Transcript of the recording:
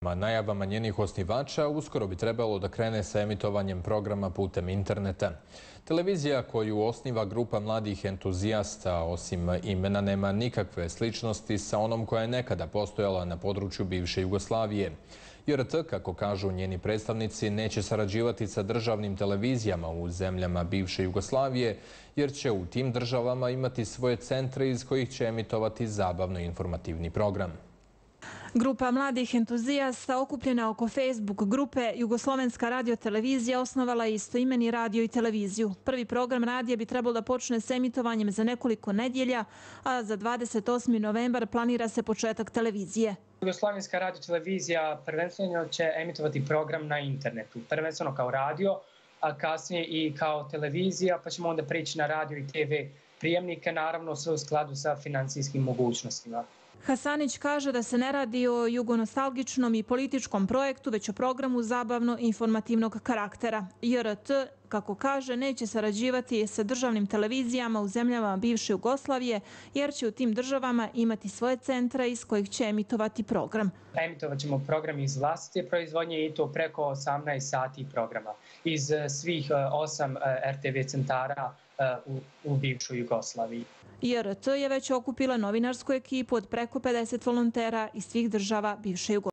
Najavama njenih osnivača uskoro bi trebalo da krene sa emitovanjem programa putem interneta. Televizija koju osniva grupa mladih entuzijasta, osim imena, nema nikakve sličnosti sa onom koja je nekada postojala na području bivše Jugoslavije. JRT, kako kažu njeni predstavnici, neće sarađivati sa državnim televizijama u zemljama bivše Jugoslavije, jer će u tim državama imati svoje centre iz kojih će emitovati zabavno-informativni program. Grupa mladih entuzijasta okupljena oko Facebook grupe Jugoslovenska radiotelevizija osnovala je istoimeni radio i televiziju. Prvi program radija bi trebalo da počne s emitovanjem za nekoliko nedjelja, a za 28. novembar planira se početak televizije. Jugoslovenska radiotelevizija prvenstveno će emitovati program na internetu, prvenstveno kao radio, a kasnije i kao televizija, pa ćemo onda prići na radio i TV prijemnike, naravno sve u skladu sa financijskim mogućnostima. Hasanić kaže da se ne radi o jugonostalgičnom i političkom projektu, već o programu zabavno-informativnog karaktera. JRT, kako kaže, neće sarađivati sa državnim televizijama u zemljama bivše Jugoslavije, jer će u tim državama imati svoje centre iz kojih će emitovati program. Emitovat ćemo program iz vlastite proizvodnje i to preko 18 sati programa iz svih 8 RTV centara u bivšoj Jugoslaviji. JRT je već okupila novinarsku ekipu od preko 50 volontera iz svih država bivše Jugoslavije.